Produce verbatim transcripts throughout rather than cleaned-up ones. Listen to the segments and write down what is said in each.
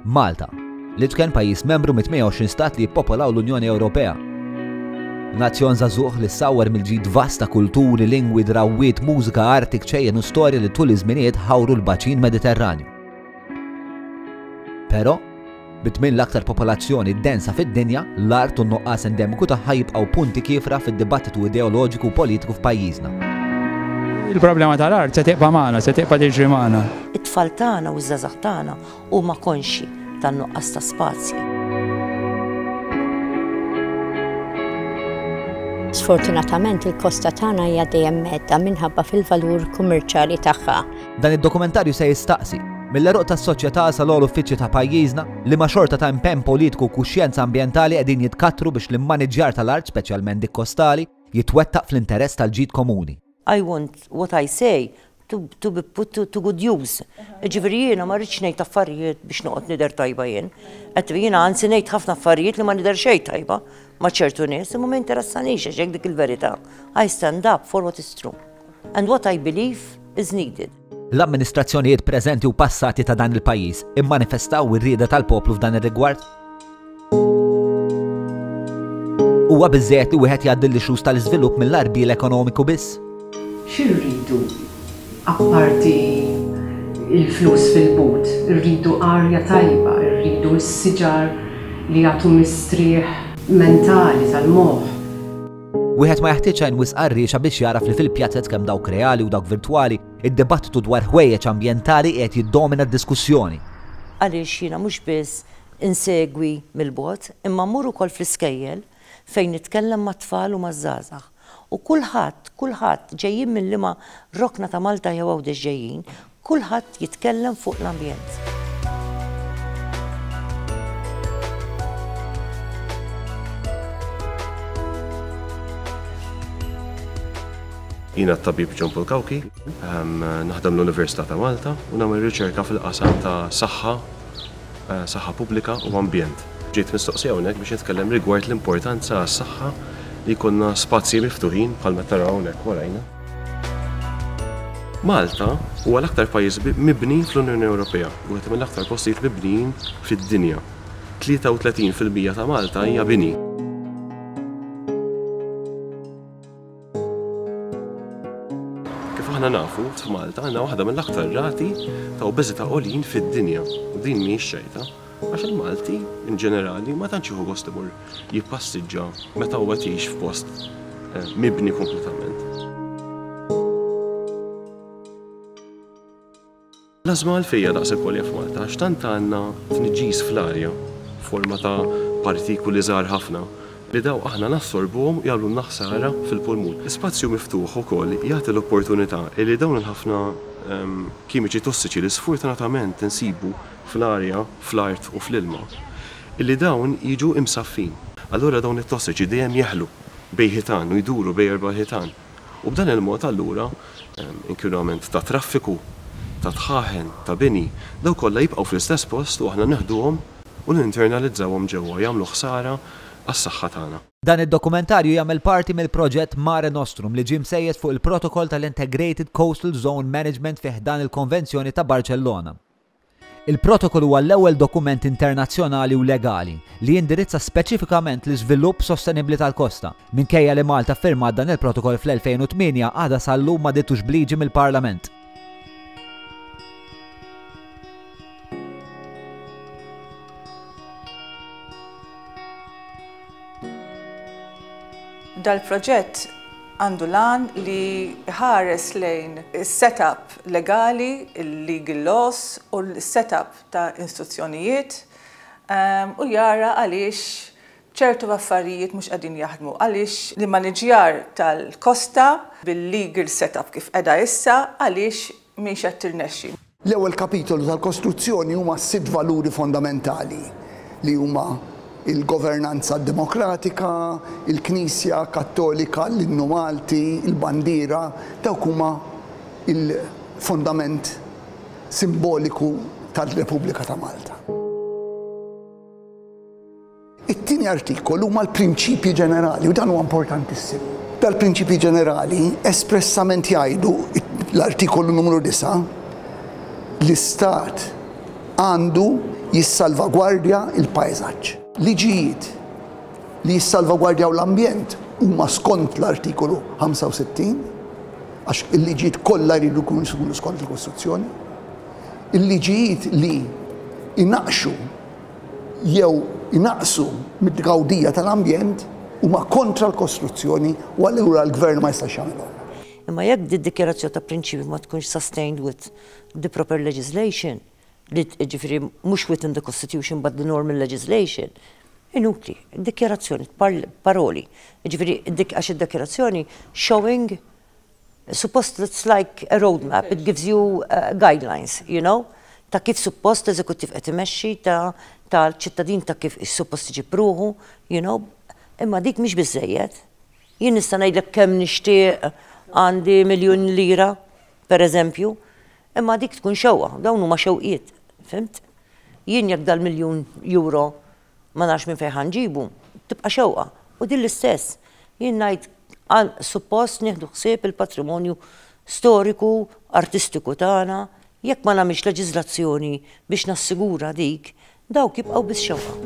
Malta, l-iċken pajjiż membru mit-tmien u għoxrin stat li jippopolaw l-Unjoni Ewropea. Nazzjon żagħżugħ li ssawwar mill-ġid vast ta' kulturi, lingwi, drawwiet, mużika, arti, kċejjen u storja li tul iż-żminijiet ħawru l-baċin Mediterranju. Però, bit-tmien l-aktar popolazzjoni densa fid-dinja, l-art u n-nuqqas endemiku tagħha jibqgħu punti kiefra fid-dibattitu ideoloġiku u politiku f'pajjiżna. Il-problema tal-art se tibqa' magħna, se tibqa' tiġri magħna. It-tfal tagħna u ż-żgħażagħ tagħna huma konxji tan-nuqqas ta' spazji. Sfortunatament, il-kosta tagħna hija dejjem mhedda minħabba fil-valur kummerċjali tagħha. Dan id-dokumentarju se jistaqsi, mill-għeruq tas-soċjetà sal uffiċċji ta' pajjiżna, liema xorta ta' impenn politiku u kuxjenza ambjentali qegħdin jitkattru biex l-immaniġġjar tal-art, speċjalment dik kostali, jitwettaq fl-interess tal-ġid komuni. I want what I say to, to be put to, to good use. Ġifieri jiena ma rridx ngħid affarijiet biex noqgħod nidher tajba jien. Qed jiena anzi ngħid ħafna affarijiet li ma nidher xejn tajba ma' ċertu nies, imma ma interessanix għax hekk dik il-verità. I stand up for what is true. And what I believe is needed. L-amministrazzjonijiet preżenti u passati ta' dan il-pajjiż immanifestaw ir-rieda tal-poplu f'dan ir-rigward? Huwa biżżejjed li wieħed jgħaddi l-issues tal-iżvilupp mill-għarbiel ekonomiku biss? Xi rridu apparti il-flus fil-but? Irridu arja tajba, irridu s-siġar li jagħtu mistrieħ mentali tal-moħħ. Wieħed ma jeħtieġ għajn wisq qarriexa biex jaraf li fil-pjazzet, kemm dawk reali u dawk virtwali, id-dibattitu dwar ħwejjeġ ambjentali qiegħed jiddomina d-diskussjoni. Għaliex jiena mhux biss insegwi mill-bogħod, imma mmur ukoll fl-iskejjel fejn nitkellem mat-tfal u maż-żgħażagħ. U kulħadd, kulħadd ġejjin minn liema rokna ta' Malta jew Għawdex ġejjin, kulħadd jitkellem fuq l-ambjent. Jiena t-tabib John Paul Cauchi, naħdem l-Università ta' Malta u nagħmel riċerka fil-qasam ta' saħħa, eh, saħħa pubblika u ambjent. Ġejt mistoqsi hawnhekk biex nitkellem rigward l-importanza għas-saħħa li jkollna spazji miftuħin bħalma taraw hawnhekk warajna. Malta huwa l-aktar pajjiż mibni fl-Unjoni Ewropea, wieħed mill-aktar postijiet mibnijin fid-dinja. tlieta u tletin fil-mija ta' Malta hija bini. Kif aħna nafu, f'Malta għandna waħda mill-aktar rati ta' obeżità għoljin fid-dinja. U din mhijiex ċajta. Għax il-Malti, in ġenerali, ma tantx jieħu gost imur jippassiġġa meta huwa jgħix f'post eh, mibni kompletament. L-ażma għalfejn hija daqshekk għolja f'Malta, għax tant għandna tniġġis fl-arja, forma ta' partikuli żgħar ħafna, li daw aħna nassorbuhom, jagħmlu ħsara fil-pulmun. Spazju miftuħ ukoll jagħti l-opportunità li dawn il-ħafna ehm, kimiċi tossiċi li sfortunatament insibu fl-arja, fl-art u fl-ilma, illi dawn jiġu imsaffin. Allura dawn it-tossiċi dejjem jeħlu bejn ħitan u jduru bejn erba' ħitan. U b'dan il-mod allura ehm, inkwinament ta' traffiku, ta' dħaħen, ta' bini, daw kollha jibqgħu fl-istess post u aħna neħduhom u ninternalizzawhom ġewwa, jagħmlu ħsara għas-saħħa tagħna. Dan id-dokumentarju jagħmel parti mill-proġett Mare Nostrum li ġie msejjes fuq il-protokoll tal-Integrated Coastal Zone Management fi ħdan il-Konvenzjoni ta' Barcellona. Il-protokoll huwa l-ewwel dokument internazzjonali u legali li jindirizza speċifikament l-iżvilupp sostenibbli tal-kosta. Minkejja li Malta firmat dan il-protokoll fl-elfejn u tmienja, għadha sal-lum ma ditux bliġi mill-Parlament. Dal-proġett għandu l-għan li ħares lejn il-setup legali, il-legal laws u l-setup ta' istituzzjonijiet um, u jara għaliex ċertu affarijiet mhux qegħdin jaħdmu, għaliex l-immaniġjar tal-kosta bil-legal setup kif qiegħda issa, għaliex mhix qed tirnexxi. L-ewwel kapitolu tal-Kostituzzjoni huma sitt valuri fondamentali li huma il-governanza demokratika, il-Knisja Kattolika, l-innu Malti, il-bandiera, dawk huma il-fondament simboliku tal-Repubblika ta' Malta. It-tieni artikolu huma l-prinċipji ġenerali u dan huwa importantissimu. Dal-prinċipji ġenerali espressament jgħidu, l-artikolu numru disgħa, l-Istat għandu Jissalvagwardja il-pajsaġġ. Liġijiet li jissalvagwardjaw l-ambjent huma skont l-artikolu ħamsa u sittin, għax il-liġijiet kollha jridu jkunu skont il-Kostituzzjoni. Il-liġijiet li inaqqxu jew inaqsu mid-gawdija tal-ambjent huma kontra l-Kostituzzjoni u allura l-gvern ma jistax jagħmilhom. Imma jekk di dikjarazzjoni ta' prinċipju ma tkunx sustained with the proper legislation, li ġifieri mhux within the Constitution but the normal legislation, inutli, dikjarazzjoni, paroli. Ġifieri, għax id-dikjarazzjoni showing, suppost it's like a roadmap, it gives you uh, guidelines, you know, ta' kif suppost eżekuttiv qed imexxi, ta' tal-ċittadin ta' kif suppost iġib ruħu, you know, imma dik mhix biżejjed. Jien nista' ngħidlek kemm nixtieq għandi miljun lira, per eżempju, imma dik tkun xewqa, dawn huma xewqiet, fhimt? Jien jekk dal-miljun euro ma nafx minn fejn ħa nġibu, tibqa' xewqa. U din l-istess. Jien ngħid suppost nieħdu ħsieb il-patrimonju storiku, artistiku tagħna, jekk ma nagħmilx leġiżlazzjoni biex nassigura dik, dawk jibqgħu biss xewqa.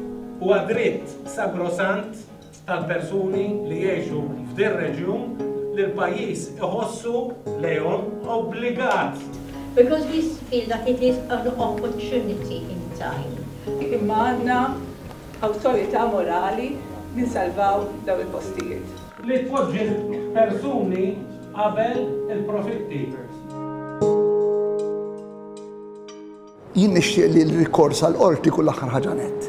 Huwa dritt sagrosant tal-persuni li jgħixu f'dir reġjun li l-pajjiż iħossu lejhom obbligat. Because we feel that it is an opportunity in time. Imma għandna awtorità morali ninsalvaw daw il-postijiet. Li tpoġġi persuni qabel il-profitti. Jien nixtieq li l-rikors għal qorti kull aħħar ħaġa nett.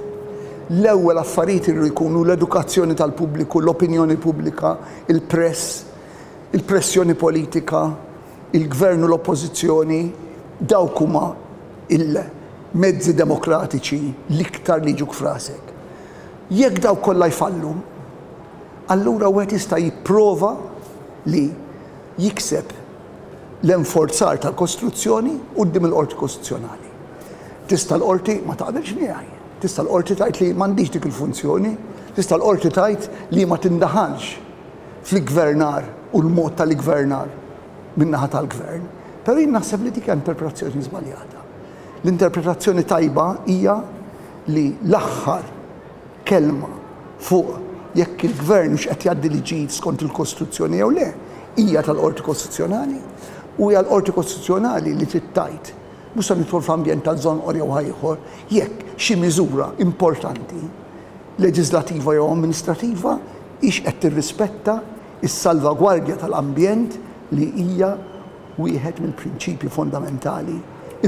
L-ewwel affarijiet irridu jkunu l-edukazzjoni tal-pubbliku, l-opinjoni pubblika, il-press, il-pressjoni politika, il-gvern u l-oppożizzjoni, dawk huma il-mezzi demokratiċi l-iktar li jiġuk f'rasek. Jekk dawk kollha jfallu, allura wieħed jista' jipprova li jikseb l-enforzar tal-Kostituzzjoni quddiem il-Qorti Kostituzzjonali. Tista' l-qorti ma taqbilx miegħi. Tista' l-qorti tgħid li m'għandix dik il-funzjoni, tista' l-qorti tgħid li ma tindaħalx fil-gvernar u l-mod tal-gvernar min-naħa tal-gvern. Però jien naħseb li dik hija interpretazzjoni żbaljata. L-interpretazzjoni tajba hija li l-aħħar kelma fuq jekk il-gvern mhux qed jgħaddi liġijiet skont il-Kostituzzjoni jew le, hija tal-Qorti Kostituzzjonali u hija l-Qorti Kostituzzjonali li trid tgħid, mhux se nidħol f'ambjent tal-Żonqor jew ieħor, jekk xi miżura importanti leġislativa jew amministrativa hix qed tirrispetta is-salvagwardja tal-ambjent li hija wieħed mill-prinċipji fondamentali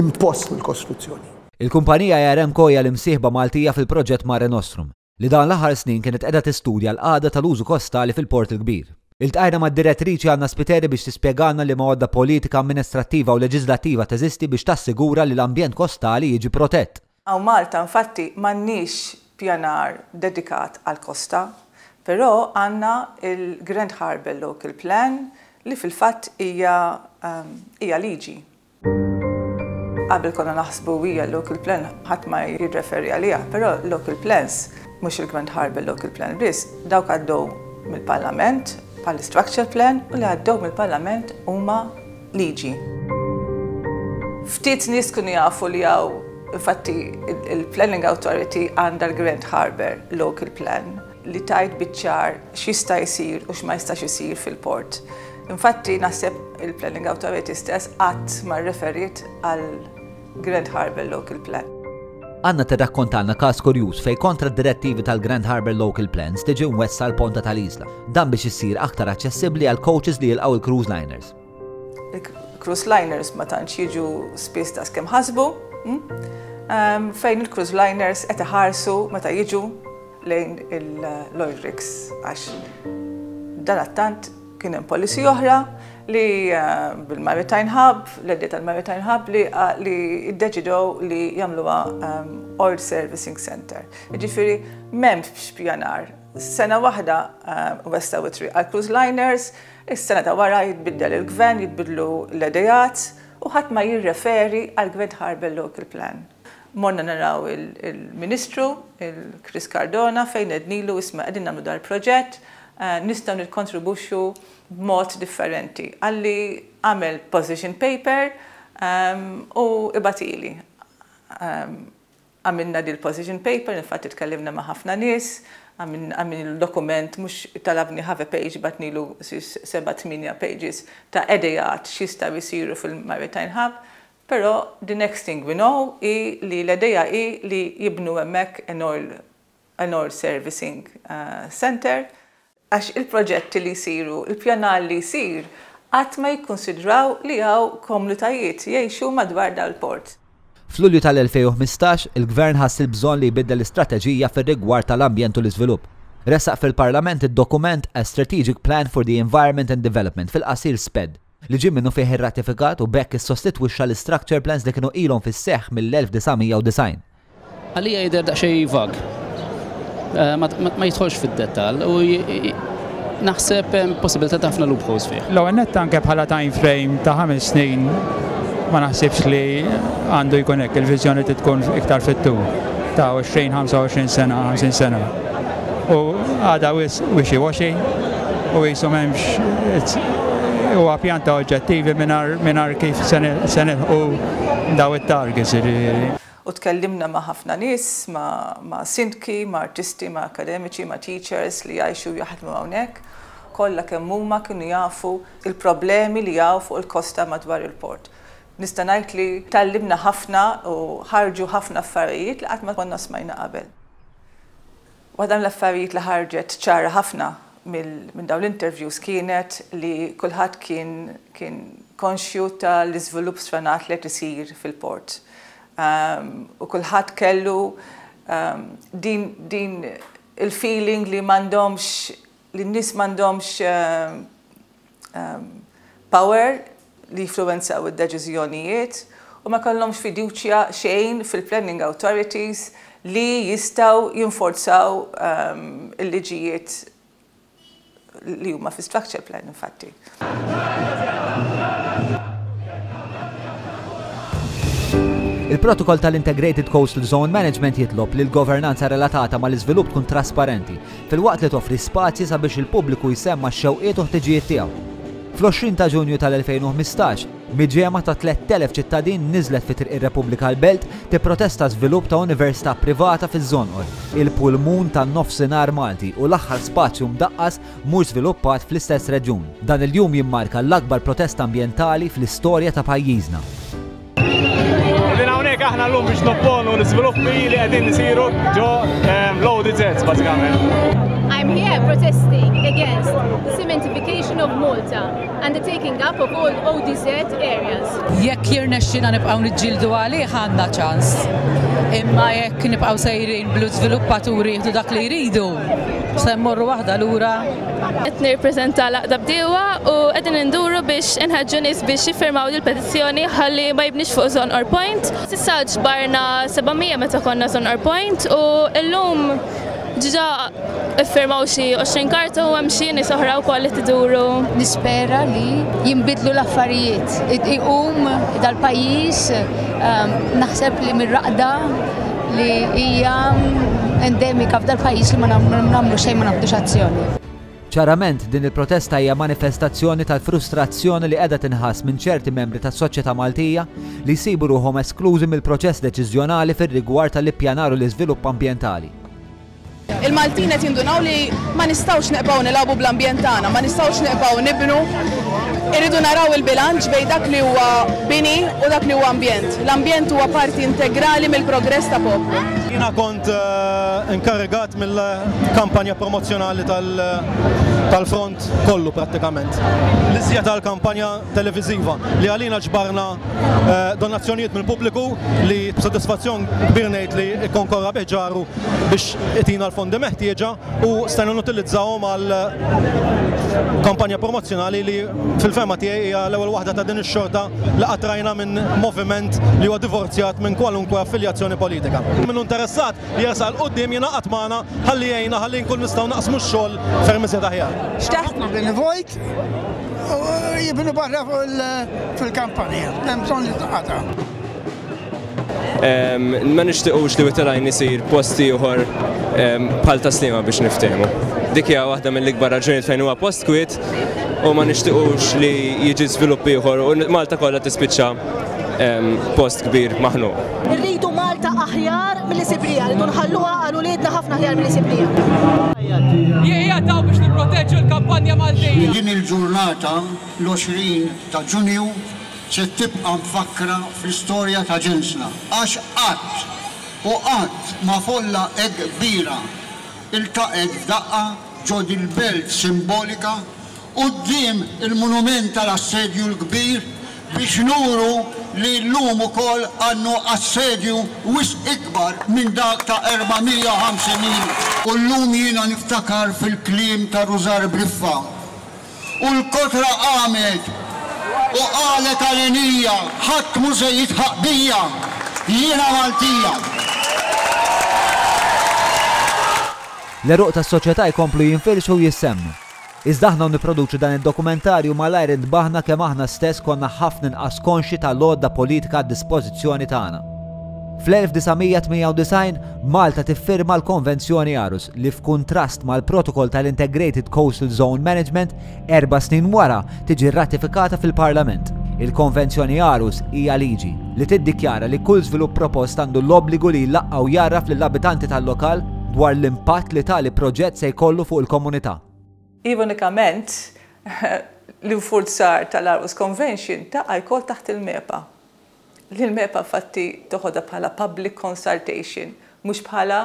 impost mill-Kostituzzjoni. Il-kumpanija Yaremco hija l-imsieħba Maltija fil-proġett Mare Nostrum, li dan l-aħħar snin kienet qiegħda tistudja l-qagħda tal-użu kostali fil-Port il-Kbir. Iltqajna mad-direttriċi Anna Spiteri biex tispjegana liema għodda politika, amministrattiva u leġislattiva teżisti biex tassigura li l-ambjent kostali jiġi protett. Hawn Malta infatti m'għandniex pjanar dedikat għal-kosta, però għandna il-Grand Harbour Local Plan li fil-fatt hija um, hija liġi. Qabel konna naħsbu hija local plan, ħadd ma jirreferi għaliha, però local plans, mhux il-Grand Harbour Local Plan biss, dawk għaddew mill-Parlament bħal structure plan u li għaddew mill-Parlament huma liġi. Ftit nies kienu jafu li hawn infatti il-Planning Authority għandha l-Grand Harbour Local Plan li tgħid biċ-ċar x'jista' jsir u x'ma jistax isir fil-port. Infatti naħseb il-Planning Authority stess qatt ma referiet għal Grand Harbour Local Plan. Anna tirrakkontalna każ kurjuż fej kontra d-direttivi tal-Grand Harbour Local Plans tiġi mwessa l-ponta tal-Isla. Dan biex issir aktar aċċessibbli għal coaches li jilqgħu il-cruise liners. Il-cruise liners ma tantx jiġu spiss ta' kemm ħasbu, mm? um, fejn il-cruise liners qed iħarsu meta jiġu lejn l-oil rigs, għax dan attant kien hemm policy oħra li uh, bil-Maritime Hub, l-idea tal-Maritime Hub li, uh, li iddeċidew li jagħmluha um, Oil Servicing Center. Ġifieri m'hemmx pjanar. Sena waħda uh, wessgħu it-triq għal cruise liners, is-sena ta' wara jitbiddel il-gvern, jitbidlu l-idejat u ħadd ma jirreferi għal Grand Harbour Local Plan. Morna naraw il-Ministru, il-Chris Cardona, fejn għednilu, isma', qegħdin nagħmlu dal-proġett, eh, nistgħu nikkontribwixxu b'mod differenti. Qalli għamel position paper um, u ibgħathieli. Um, Għamilna dil-position paper, infatti tkellimna ma' ħafna nies, għamilna il-dokument, mhux talabni half a page, bgħatnilu seba' tmienja pages ta' ideat x'jistgħu jsiru fil-Maritime Hub, però the next thing we know hi li l-idea hi li jibnu hemmhekk an oil, an oil servicing uh, center, għax il-proġetti li jsiru, il-pjanar li jsir, qatt ma jikkonsidraw li hawn komunitajiet jgħixu madwar dal-port. F'Lulju tal-elfejn u ħmistax, il-Gvern ħass il-bżonn li jbiddel l-istrateġija fir-rigward tal-ambjent u l-iżvilupp. Ressaq fil-Parlament id-dokument A Strategic Plan for the Environment and Development, fil-qasir SPED, li ġie minnu fih irratifikat u b'hekk issostitwixxa l-structure plans li kienu ilhom fis-seħħ mill-elf disa' mija u disgħin. Għalija jidher daqsxejn vag. Eh, ma, ma, ma jidħolx fid-dettall u j-, j-, naħseb hemm possibilità ta' ħafna loopholes fih. L-ewwel nett anke bħala time frame ta' ħames snin ma naħsibx li għandu jkun hekk, il-viżjoni trid tkun iktar fit-tul ta' għoxrin, ħamsa u għoxrin sena, ħamsin sena. U għada wis wishy-washy u jisu m'hemmx, huwa pjan ta' oġġettivi mingħajr, mingħajr kif se nilħqu daw it-targets, jiġifieri. U tkellimna ma' ħafna nies, ma', ma' sindki, ma' artisti, ma' akademiċi, ma' teachers li jgħixu jaħdmu hawnhekk. Kollha kemm huma kienu jafu il-problemi li hawn fuq il-kosta madwar il-port. Nista' ngħid li tgħallimna ħafna u ħarġu ħafna affarijiet li qatt ma konna smajna qabel. Waħda mill-affarijiet li ħarġet ċara ħafna mill-, minn dawn l-interviews kienet li kulħadd kien, kien konxju tal-iżvilupp sfrenat li qed isir fil-port. Um, u kulħadd kellu, um, din, din il-feeling li m'għandhomx, li n-nies m'għandhomx, um, um, power li jinfluwenzaw id-deċiżjonijiet u ma kellhomx fiduċja xejn fil-planning authorities li jistgħu jinforzaw, um, il-liġijiet li huma fi structure plan infatti. Il-protokoll tal-Integrated Coastal Zone Management jitlob li l-governanza relatata mal-iżvilupp tkun trasparenti, filwaqt li toffri spazji sabiex il-pubbliku jsemma x-xewqiet u ħtiġijiet tiegħu. Fl-għoxrin ta' Ġunju tal-elfejn u ħmistax, miġemgħa ta' tlett elef ċittadin niżlet fi Triq ir-Repubblika l-Belt tipprotesta żvilupp ta' università privata fiż-Żonqor, il-pulmun tan-nofsinhar Malti u l-aħħar spazju mdaqqas mhux żviluppat fl-istess reġjun. Dan il-jum jimmarka l-akbar protesta ambjentali fl-istorja ta' pajjiżna. Qegħdin hawnhekk aħna llum biex nopponu l-iżviluppi li qegħdin isiru ġo, ehm, l-O D Z bażikament. I'm here protesting against the cementification of Malta and the taking up of all O D Z areas. Jekk jirnexxina nibqgħu niġġieldu għalih għandna ċans. Imma jekk nibqgħu sejrin blu żviluppaturi jieħdu dak li jridu, se mmorru waħda lura. Qed nirrappreżenta l-Għaqda Bdiewa u qegħdin induru biex inħeġġu nies biex jiffirmaw il-petizzjoni ħalli ma jibnix fuq Żonqor Point. S'issa ġbarna seba' mija meta konna Żonqor Point u llum ġiġa iffirmaw xi għoxrin karta u hemm xi nies oħra wkoll li tiduru. Nispera li jinbidlu l-affarijiet, iqum dal-pajjiż, ehm, naħseb li mir-raqda li hija endemika f'dal-pajjiż li ma nagħmlu xejn, ma nagħmlux azzjoni. Ċarament din il-protesta hija manifestazzjoni tal-frustrazzjoni li qiegħda tinħass minn ċerti membri tas-soċjetà Maltija li jsibu ruħhom esklużi mill-proċess deċiżjonali fir-rigward tal-ippjanar u l-iżvilupp ambjentali. Il-Maltin qed jindunaw li ma nistgħux neqbgħu nilagħbu bl-ambjent tagħna, ma nistgħux neqbgħu nibnu. Irridu naraw il-bilanċ bejn dak li huwa bini u dak li huwa ambjent. L-ambjent huwa parti integrali mill-progress ta' poplu. Jiena kont, eh, inkarigat mill-kampanja promozzjonali tal-, tal-front kollu prattikament. L-iżjed tal-kampanja televiżiva li għalina ġbarna, eh, donazzjonijiet mill-pubbliku li b'sodisfazzjon kbir ngħid li ikkonkorra bih ġaru biex itina l-fondi meħtieġa u stajna nutilizzawhom għal kampanja promozzjonali li fil-fema tiegħi hija l-ewwel waħda ta' din ix-xorta li qatt rajna minn moviment li huwa divorzjat minn kwalunkwe affiljazzjoni politika. Min hu interessat jersaq 'l quddiem jingħaqad magħna ħalli jgħinna ħalli nkun nistgħu naqsmu x-xogħol ferm iżjed aħjar. Xtaqt bini vojt u jibnu barra fil-kampanja, hemm bżonn li taqata'. Em, ma nixtiequx li Wied il-Għajn isir post ieħor, em, bħal Tas-Sliema biex niftehmu. Dik hija waħda mill-ikbar raġunijiet fejn huwa post kwiet u ma nixtiequx li jiġi żvilupp ieħor u Malta kollha tispiċċa, em, post kbir maħnuq. Irridu Malta Aħjar milli sibnieha, rridu nħalluha għal uliedna ħafna aħjar milli sibnieha. Jien hawn biex nipproteġu l-kampanja Maltija. Din il-ġurnata, l-għoxrin ta' Ġunju, se tibqa' mfakkra fl-istorja ta' ġensna. Għax qatt u qatt ma folla hekk kbira iltaqgħet f'daqqa ġo dil-belt simbolika quddiem il-monument tal-Assedju l-Kbir biex nuru li llum ukoll għandna assedju wisq ikbar minn dak ta' erba' mija u ħamsin ilu. U llum jiena niftakar fil-kliem ta' Rużar Briffa. U l-kotra qamet u qalet għalenija, "Ħadd mhu se jidħaq bija, jiena Maltija." L-għeruq tas-soċjetà jkomplu jinfirxu u jissemmu. Iżda aħna nipproduċu dan id-dokumentarju, malajr intbaħna kemm aħna stess konna ħafna inqas konxi tal-għodda politika għad dispożizzjoni tagħna. Fl-elf disa' mija tmienja u disgħin Malta tiffirma l-Konvenzjoni Aarhus li, f'kuntrast mal-protokoll tal-Integrated Coastal Zone Management, erba' snin wara tiġi ratifikata fil-Parlament. Il-Konvenzjoni Aarhus hija liġi li tiddikjara li kull żvilupp propost għandu l-obbligu li jlaqqa' u jgħarraf lill-abitanti tal-lokal dwar l-impatt li tali proġett se jkollu fuq il-komunità. Ironikament, l-infurzar tal-Aarhus Convention taqa' wkoll taħt il-MEPA. L-MEPA fatti toħodha bħala public consultation, mhux bħala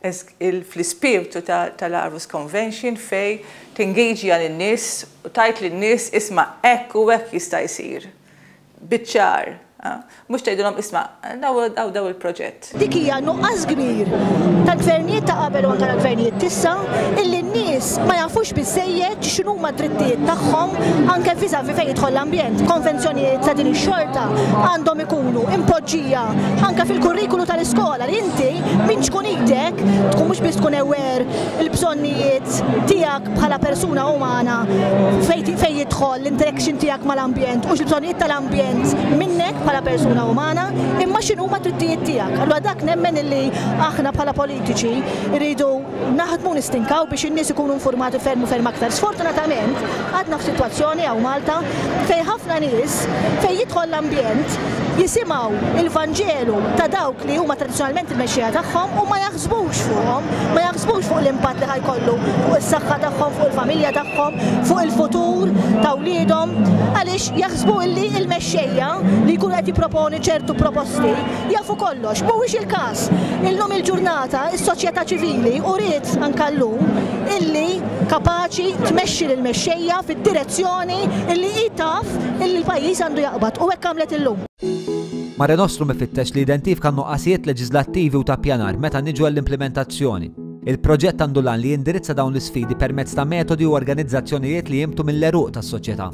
fl-ispirtu tal-Aarhus Convention fejn tingaġi lin-nies u tgħid lin-nies, "Isma', hekk u hekk jista' jsir." Biċ-ċar. Mhux tgħidilhom, "Isma', daw daw il-proġett." Dik hija nuqqas kbir tal-gvernijiet ta' qabel u anke tal-gvernijiet t'issa, illi n-nies ma jafux biżejjed x'inhuma d-drittijiet tagħhom anke vis-à-vis fejn jidħol l-ambjent. Konvenzjonijiet ta' din ix-xorta għandhom ikunu impoġġija anke fil-kurrikulu tal-iskola, li inti minn ċkunitek tkun mhux biss tkun aware il-bżonnijiet tiegħek bħala persuna umana fejn jidħol l-interaction tiegħek mal-ambjent u x-bżonnijiet tal-ambjent minnek bħala persuna umana, imma x'inhuma drittijiet tiegħek. Allura dak nemmen illi aħna bħala politiċi rridu naħdmu, nistinkaw biex in-nies ikunu informati ferm u ferm aktar. Sfortunatament, għadna f'sitwazzjoni hawn Malta fejn ħafna nies, fejn jidħol l-ambjent, jisimgħu il-Vanġelu ta' dawk li huma tradizzjonalment il-mexxija tagħhom u ma jaħsbux fuqhom, ma jaħsbux fuq l-impatt li ħa jkollu fuq is-saħħa tagħhom, fuq il-familja tagħhom, fuq il-futur ta' wliedhom, għaliex jaħsbu illi il-mexxejja li jkunu qed jipproponi ċertu proposti jafu kollox. Mhuwiex il-każ. Illum il-ġurnata is-soċjetà ċivili uriet anke llum illi kapaċi tmexxi lill-mexxejja fid-direzzjoni illi hi taf illi l-pajjiż għandu jaqbad, u hekk għamlet illum. Mare Nostrum ifittex li identifika nuqqasijiet leġislattivi u ta' pjanar meta niġu għall-implementazzjoni. Il-proġett għandu l-għan li jindirizza dawn l-isfidi permezz ta' metodi u organizzazzjonijiet li jinbtu mill-għeruq tas-soċjetà.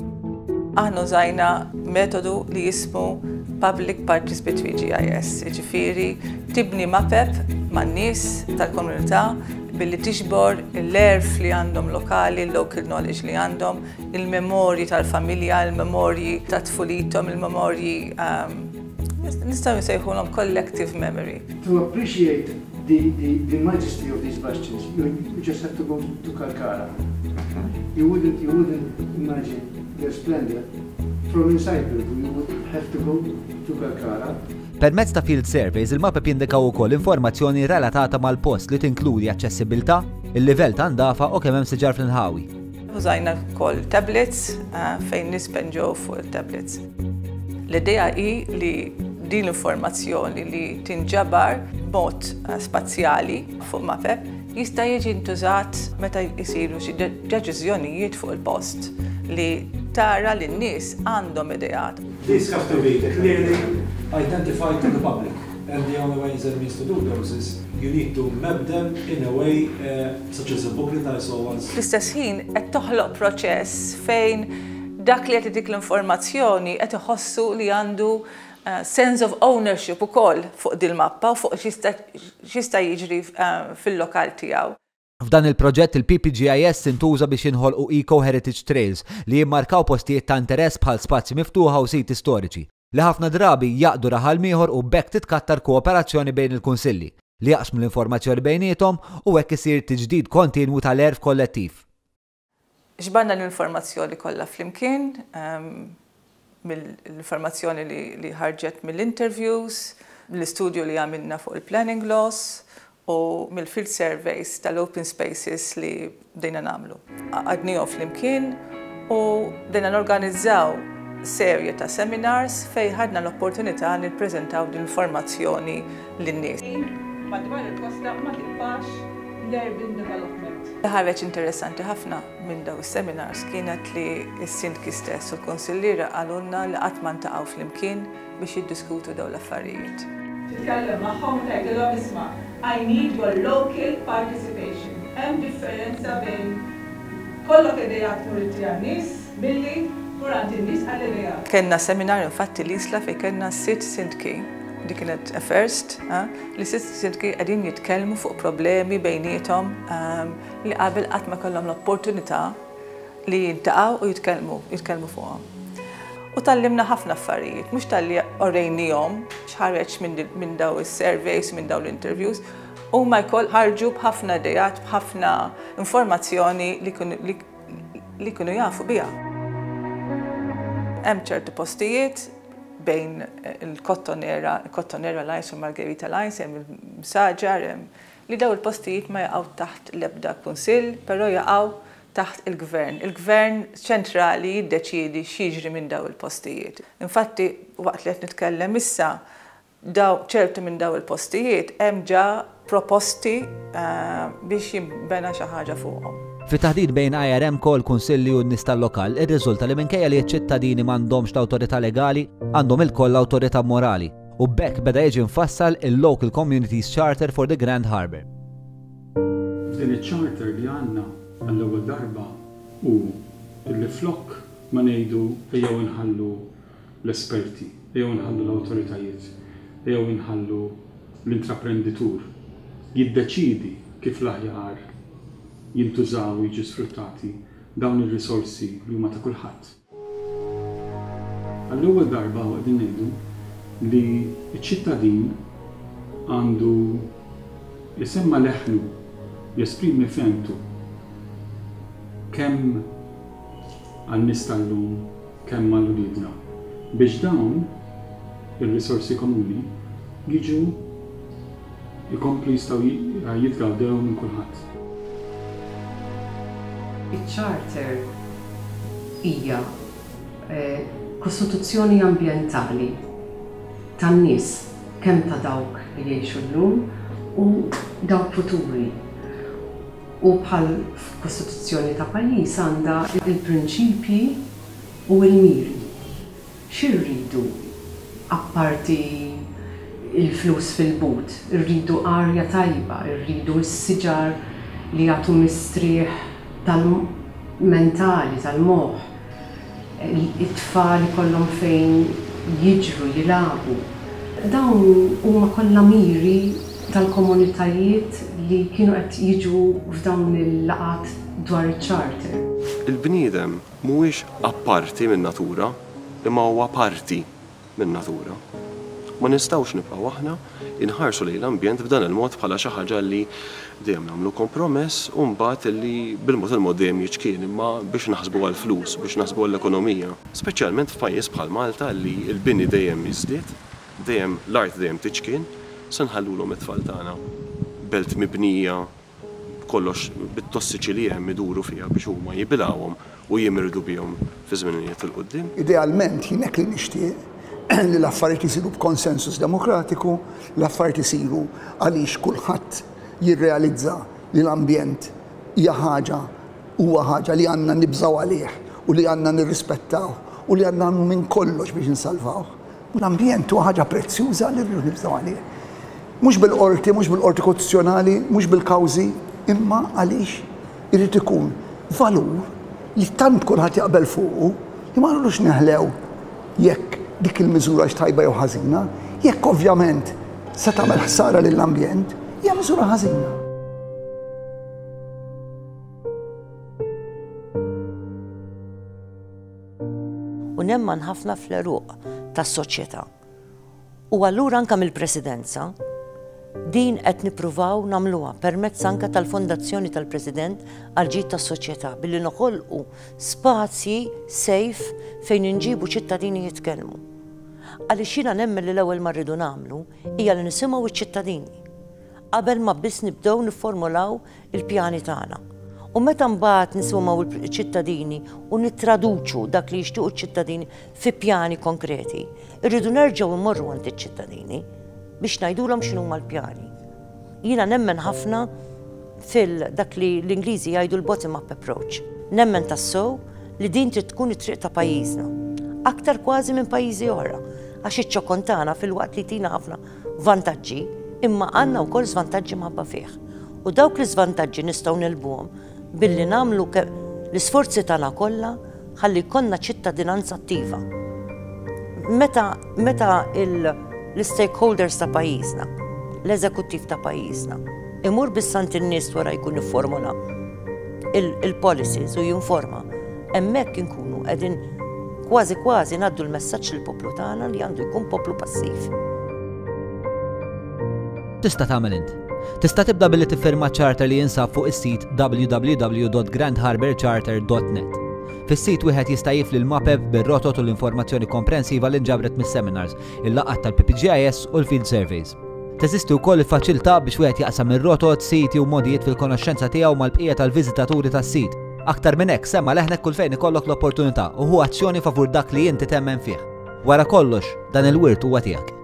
Aħna użajna metodu li jismu Public Participatory G I S, ġifieri tibni mapep man-nies tal-komunità billi tiġbor l-għerf li għandhom lokali, local knowledge li għandhom, il-memorji tal-familja, il-memorji ta' tfulithom, il-memorji um, nistgħu nsejħulhom collective memory. To appreciate the, the, the majesty of these bastions, you, you just have to go to Kalkara. You wouldn't, you wouldn't imagine their splendor from inside Birgu. You would have to go to Kalkara. Permezz ta' field surveys, il-mapep jindikaw ukoll informazzjoni relatata mal-post li tinkludi aċċessibilità, il-livell ta' ndafa u kemm hemm siġar fl-inħawi. Użajna wkoll tablets eh, fejn nies pinġew fuq il-tablets. L-idea hi li din l-informazzjoni li tinġabar b'mod eh, spazjali fuq mapep jista' jiġi ntużat meta jisiru xi deċiżjonijiet fuq il-post, li tara li n-nies għandhom ideat. These have to be clearly identified to the public. And the only ways and means to do those is you need to map them in a way uh, such as a booklet I saw once. Fl-istess ħin qed toħloq proċess fejn dak li qed dik l-informazzjoni qed iħossu li għandu uh, sense of ownership ukoll fuq dil-mappa u fuq x'jista' jiġri uh, fil-lokal tiegħu. F'dan il-proġett, il-P P G I S intuża biex jinħolqu Eco Heritage Trails li jimmarkaw postijiet ta' interess bħal spazji miftuħa u siti storiċi li ħafna drabi jgħaqqdu raħal m'ieħor, u b'hekk titkattar kooperazzjoni bejn il-kunsilli li jaqsmu l-informazzjoni bejniethom u hekk isir tiġdid kontinwu tal-għerf kollettiv. Ġbarna l-informazzjoni kollha flimkien, um, mill-informazzjoni li, li ħarġet mill-interviews, L-istudju li għamilna fuq il-planning laws u mill-field surveys tal-open spaces li bdejna nagħmlu. Għaqqadnihom flimkien u bdejna norganizzaw serje ta' seminars fejn ħadna l-opportunità nippreżentaw din informazzjoni lin-nies. Madwar il-kosta ma tibqax l-urban development. Ħareġ interessanti ħafna minn daw is-seminars kienet li s-sindki stess u l-konsilliera qalulna li qatt ma ntaqgħu flimkien biex jiddiskutu daw l-affarijiet. Titkellem magħhom tgħidilhom isma' I need your local participation. Hemm differenza bejn ikollok idejat tmur għand nies milli tmur għand in-nies għall-idejat. Kenna seminar infatti l-Isla fejn kellna sitt sindki, di kienet a first, eh, li sitt sindki qegħdin jitkellmu fuq problemi bejniethom ehm, li qabel qatt ma kellhom l-opportunità li jiltaqgħu u jitkellmu, jitkellmu fuqhom. U tgħallimna ħafna affarijiet, mhux talli urejnihom x'ħareġ minn daw is-surveys, minn daw l-interviews, u ma jkoll ħarġu b'ħafna idejat, b'ħafna informazzjoni li li kienu jafu biha. Hemm ċertu postijiet bejn il-Kottonera, il-Kottonera Lines u Margherita Lines, hemm il-Msaġar, hemm li daw il-postijiet ma jaqgħu taħt l-ebda kunsill, però jaqgħu taħt il-gvern. Il-gvern ċentrali jiddeċiedi x'jiġri minn daw il-postijiet. Infatti, waqt li qed nitkellem issa, daw ċertu minn daw il-postijiet hemm ġa proposti eh, biex jimbena xi ħaġa fuqhom. Fit-taħdit bejn I R M kol kunsilli u n-nies tal-lokal, irriżulta li minkejja li ċ-ċittadini m'għandhomx l-awtorità legali, għandhom ilkoll l-awtorità morali. U b'hekk beda jiġi mfassal il-Local Communities Charter for the Grand Harbour. F'din iċ-charter li għandna għall-ewwel darba u illi flok ma ngħidu ejjew inħallu l-esperti, ejjew inħallu l-awtoritajiet, ejjew inħallu l-intraprenditur jiddeċidi kif l-aħjar jintużaw u jiġu sfruttati dawn ir-risorsi li huma ta' kulħadd. Għall-ewwel darba qegħdin ngħidu li ċ-ċittadin għandu jsemma' leħnu, jesprimi fehmtu kemm għan-nies tal-lum, kemm għal uliedna, biex dawn ir-risorsi komuni jiġu jkomplu jistgħu jitgawdew minn kulħadd. Iċ-charter hija eh, kostituzzjoni ambjentali tan-nies, kemm ta' dawk li jgħixu llum u dawk futuri. U bħal kostituzzjoni ta' pajjiż għandha il-prinċipji u l-miri. X'irridu apparti il-flus fil-but? Irridu arja tajba, irridu s-siġar li jagħtu mistrieħ tal-mentali, tal-moħħ. It-tfal ikollhom fejn jiġru, jilagħbu. Dawn huma kollha miri tal-komunitajiet li kienu qed jiġu f'dawn il-laqat dwar iċ-charter. Il-bniedem mhuwiex apparti minn natura, imma huwa parti minn natura. Ma nistgħux nibqgħu aħna inħarsu lejn l-ambjent b'dan il-mod bħala xi ħaġa li dejjem nagħmlu kompromess u mbagħad li bil-mod il-mod dejjem jiċkien, imma biex naħsbu għall-flus, biex naħsbu għall-ekonomija. Speċjalment f'pajjiż bħal Malta li l-bini dejjem jiżdied, dejjem l-art dejjem tiċkien, se nħallulhom it-tfal tagħna belt mibnija kollox bit-tossiċi li hemm iduru fiha biex huma jibilgħuhom u jimirdu bihom fi żminijiet 'il quddiem? Idealment jien hekk li nixtieq, li l-affarijiet isiru b'konsensus demokratiku, l-affarijiet isiru għaliex kulħadd jirrealizza li l-ambjent hija ħaġa huwa ħaġa li għandna nibżgħu għalih u li għandna nirrispettaw u li għandna minn kollox biex insalvaw. L-ambjent huwa ħaġa prezzjuża li rridu nibżgħu għalih. Mhux bil-qorti, mhux bil-qorti kostituzzjonali, mhux bil-kawżi, imma għaliex irid ikun valur li tant kulħadd jaqbel fuqu li ma nridux neħlew jekk dik il-miżura tajba jew ħażina, jekk ovvjament se tagħmel ħsara lill-ambjent, hija miżura ħażina. U nemmen ħafna fl-għeruq tas-soċjetà. U allura anka mill-presidenza din qed nippruvaw nagħmluha permezz anka tal-Fondazzjoni tal-President għal ġid tas-soċjetà billi noħolqu spazji safe fejn inġibu ċittadini jitkellmu. Għaliex jiena nemmen li l-ewwel ma rridu nagħmlu hija li nisimgħu iċ-ċittadini qabel ma biss nibdew nifformulaw il-pjani tagħna. U meta mbagħad nisimgħu l-ċittadini u nittraduċu dak li jixtiequ ċ-ċittadini fi pjani konkreti, irridu nerġgħu immorru għand iċ-ċittadini biex ngħidulhom x'inhuma l-pjani. Jiena nemmen ħafna fil dak li l-Ingliżi jgħidu l-bottom-up approach. Nemmen tassew li din trid tkun it-triq ta' pajjiżna. Aktar kważi minn pajjiżi oħra. Għax iċ-ċokon tagħna filwaqt li tina ħafna vantaġġi, imma għandna wkoll żvantaġġi minħabba fih. U dawk l-iżvantaġġi nistgħu negħlbuhom billi nagħmlu l-isforzi tagħna kollha ħalli jkollna ċittadinanza attiva. Meta, meta l-stakeholders ta' pajjiżna, l-eżekuttiv ta' pajjiżna, imur biss għand in-nies wara jkun ifformula il-policies u jinforma, hemmhekk inkunu qegħdin kważi kważi ngħaddu l-messaġġ lill-poplu tagħna li għandu jkun poplu passiv. Tista' tagħmel int. Tista' tibda billi tiffirma charter li jinsab fuq is-sit W W W dot grandharbourcharter dot net. Fis-sit wieħed jista' jifli l-mapep bir-rotot u l-informazzjoni komprensiva li nġabret mis-seminars, il-laqgħat tal-P P G I S u l-field surveys. Teżisti wkoll il-faċilità biex wieħed jaqsam ir-rotot, siti u modijiet fil-konoxxenza tiegħu mal-bqija tal-viżitaturi tas-sit. Aktar minn hekk, semma leħnek kull fejn ikollok l-opportunità u ħu azzjoni favur dak li inti temmen fih. Wara kollox, dan il-wirt huwa tiegħek.